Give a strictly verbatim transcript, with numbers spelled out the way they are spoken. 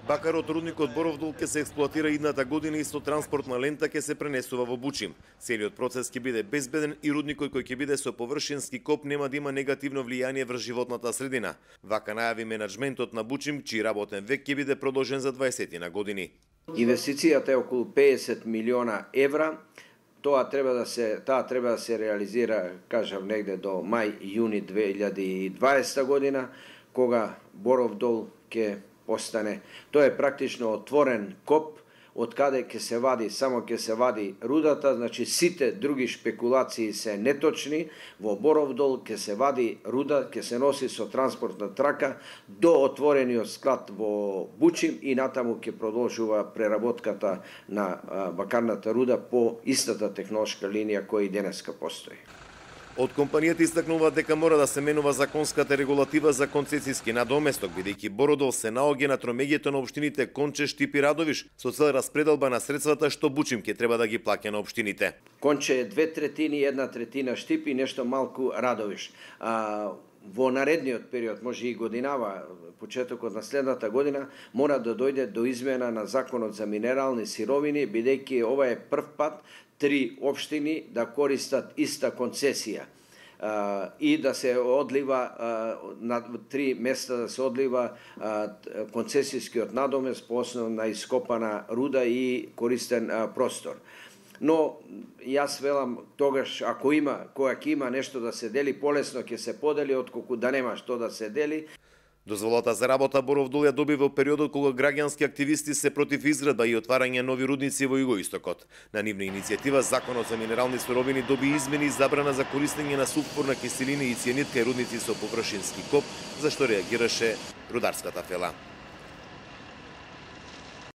Бакарот рудникот Боров дол ќе се експлоатира идната година и со транспортна лента ќе се пренесува во Бучим. Целиот процес ќе биде безбеден и рудникот кој ќе биде со површински коп нема да има негативно влијание врз животната средина. Вака најави менаџментот на Бучим, чиј работен век ќе биде продолжен за дваесет на години. Инвестицијата е околу педесет милиона евра. Тоа треба да се таа треба да се реализира, кажав, негде до мај-јуни две илјади и дваесета година, кога Боров дол ќе постане. Тоа е практично отворен коп, од каде ќе се вади, само ќе се вади рудата, значи сите други шпекулации се неточни. Во Боров дол ќе се вади руда, ќе се носи со транспортна трака до отворениот склад во Бучим и натаму ќе продолжува преработката на бакарната руда по истата технолошка линија која и денеска постои. Од компанијата истакнува дека мора да се менува законската регулатива за концесиски надоместок, бидејќи Бородол се наоѓа на тромеѓето на општините Конче, Штип и Радовиш, со цел распределба на средствата што Бучим ќе треба да ги плаќа на општините. Конче е две третини, една третина Штип и нешто малку Радовиш. А, во наредниот период, може и годинава, почетокот на следната година, мора да дојде до измена на законот за минерални сировини, бидејќи ова е прв пат три општини да користат иста концесија а, и да се одлива а, на три места да се одлива а, концесискиот надомест по основа на ископана руда и користен а, простор. Но јас велам тогаш ако има, кога ќе има нешто да се дели, полесно ќе се подели отколку да нема што да се дели. Дозволата за работа Боров дол ја доби во периодот кога граѓански активисти се против изградба и отварање нови рудници во Југоистокот. На нивна иницијатива Законот за минерални суровини доби измени и забрана за користење на сулфурна киселина и цијанид кај рудници со површински коп, за што реагираше рударската фела.